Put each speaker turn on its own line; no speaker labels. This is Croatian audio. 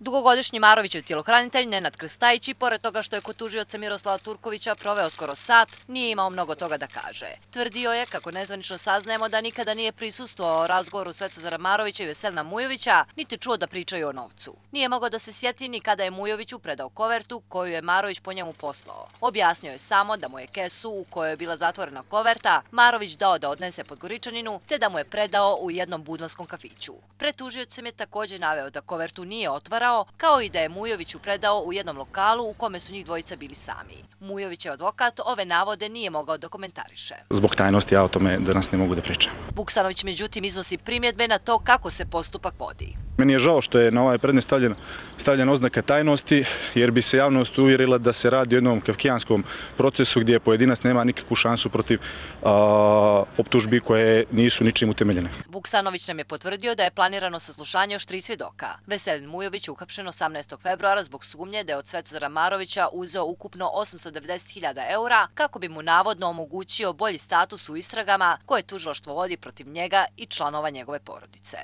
Dugogodišnji Marovićev tjelohranitelj Nenad Krstajić, i pored toga što je kod tužioca Miroslava Turkovića proveo skoro sat, nije imao mnogo toga da kaže. Tvrdio je, kako nezvanično saznajemo, da nikada nije prisustvovao razgovoru Svetozara Marovića i Veselina Mujovića, niti čuo da pričaju o novcu. Nije mogao da se sjeti ni kada je Mujoviću predao kovertu koju je Marović po njemu poslao. Objasnio je samo da mu je kesu u kojoj je bila zatvorena koverta Marović dao da odnese Podgoričaninu, te da mu je predao u jednom budvanskom kafiću. Pred tužiocem je također naveo da kovertu nije otvarao, kao i da je Mujoviću predao u jednom lokalu u kome su njih dvojica bili sami. Mujovićev advokat ove navode nije mogao da komentariše.
Zbog tajnosti ja o tome danas ne mogu da pričam.
Vuksanović međutim iznosi primjedbe na to kako se postupak vodi.
Meni je žao što je na ovaj predmet stavljena oznaka tajnosti, jer bi se javnost uvjerila da se radi o jednom kafkijanskom procesu gdje pojedinac nema nikakvu šansu protiv optužbi koje nisu ničim utemeljene.
Vuksanović nam je potvrdio da je planirano saslušanje još 3 svjedoka. Veselin Mujović je uhapšen 18. februara zbog sumnje da je od Svetozara Marovića uzeo ukupno 890.000 eura kako bi mu navodno omogućio bolji status u istragama koje tužilaštvo vodi protiv njega i članova njegove porodice.